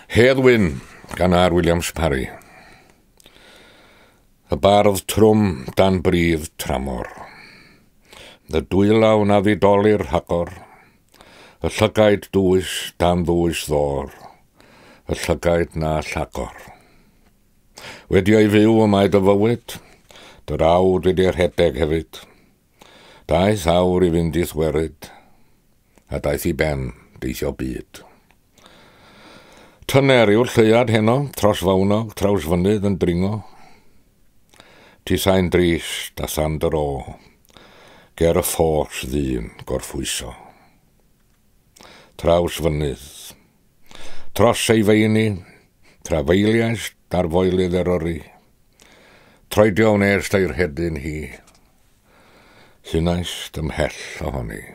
Hedd Wyn gan R. Williams Parry. Y bardd trwm dan bridd tramor. Y dwylaw na ddidolir rhagor. Y llygaid dwys dan ddwys ddor. Y llygaid na llagor. Wedi o'i fyw y mae dy fywyd, dy rawd wedi rhedeg hefyd. Daeth awr i fynd i'th weryd, a daeth i ben deithio byd. Tyner yw'r lleuad heno, tros fawnog, traws fynydd yn dringo. Tithau'n drist a than dy ro, ger y ffos ddyn gorffwyso. Traws fynydd, tros ei feini, trafeiliais dar foelydd Eryri. Troedio wnes i'r hedyn hi, hunaist ymhell ohoni.